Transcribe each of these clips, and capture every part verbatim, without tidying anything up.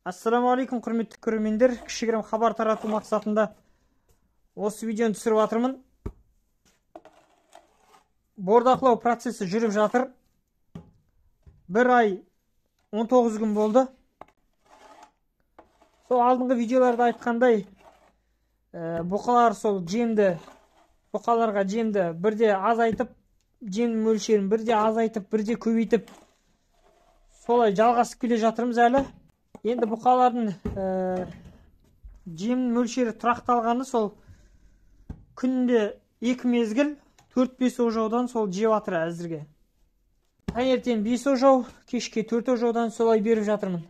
Ассаламуалейкум, құрметті көрермендер. Кішігірім хабар тарату мақсатында осы видеоны түсіріп жатырмын. Бордақылау процесі жүріп жатыр. Бір ай он тоғыз күн болды. Сол алдыңғы видеоларда айтқандай, бұқалар сол жемді, бұқаларға жемді бірде азайтып, жем мөлшерін бірде азайтып, бірде көбейтіп, солай жалғасып келе жатырмыз әлі. Енді бұқалардың жем мөлшері тұрақталғаны сол күнде екі мезгіл төрт бес ожаудан сол жеп жатыр әзірге. Таңертең бес ожау, кешке төрт ожаудан солай беріп жатырмын.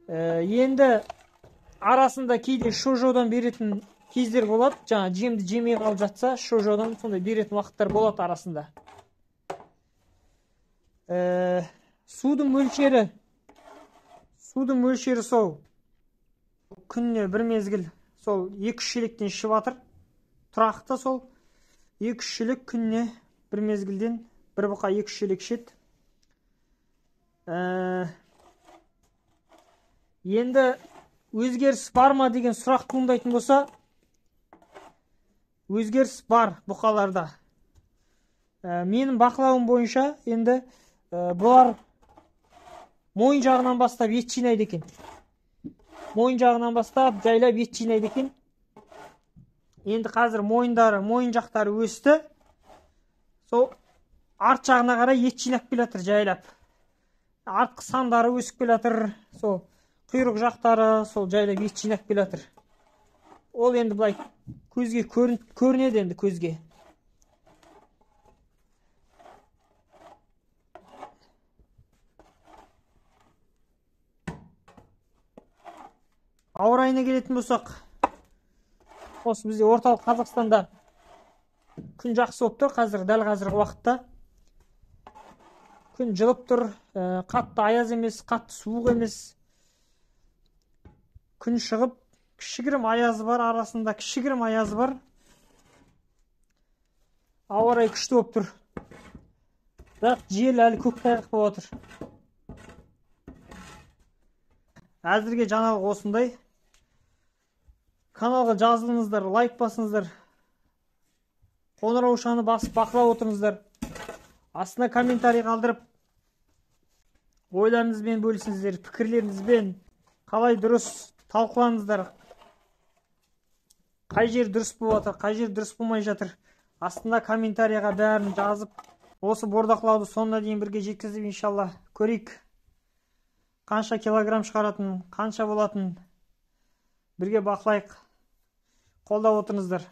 Енді арасында кейде үш ожаудан беретін кездер болады. Жаңа жемді жемей қалып жатса, үш ожаудан сондай беретін уақыттар болады арасында. Судың мөлшері Судың мөлшері сол күніне бір мезгіл сол екі үш шелектен ішіп жатыр. Тұрақты сол екі үш шелек күніне бір мезгілден бір бұқа екі үш шелек ішеді. Енді өзгеріс бар ма деген сұрақ туындайтын болса, өзгеріс бар бұқаларда. Менің бақылауым бойынша енді бұлар мойын жағынан бастап ет жинайды екен. Мойын жағынан бастап жайлап ет жинайды екен. Енді қазір мойындары, мойын жақтары өсті. Сол арт жағына қарай ет жинап келе жатыр жайлап. Артқы сандары өсіп келе жатыр. Сол құйрық жақтары сол жайлап ет жинап келе жатыр. Ол енді былай көзге көрінеді енді көзге. Ауа райына келетін болсақ, осы бізде орталық Қазақстанда күн жақсы болып тұр. Қазір дәл қазіргі уақытта күн жылып тұр, қатты аяз емес, қатты суық емес. Күн шығып, кішігірім аязы бар, арасында кішігірім аязы бар. Ауа райы күшті болып тұр. Бірақ жел әлі көктайғақ болып отыр. Әзірге жаңалық осындай. Каналға жазылыңыздар, лайк басыңыздар. Қоңыраушаны басып бақылап отырыңыздар. Астына комментарий қалдырып, ойларыңызбен бөлісіңіздер, пікірлеріңізбен қалай дұрыс талқылаңыздар. Қай жер дұрыс болып жатыр, қай жер дұрыс болмай жатыр. Астына комментарийға бәрін жазып, осы бордақылауды соңына дейін бірге жеткізіп, иншалла көрейік. Қанша килограмм шығаратын, қанша болатын бірге бақылайық. Қолдап отырыңыздар.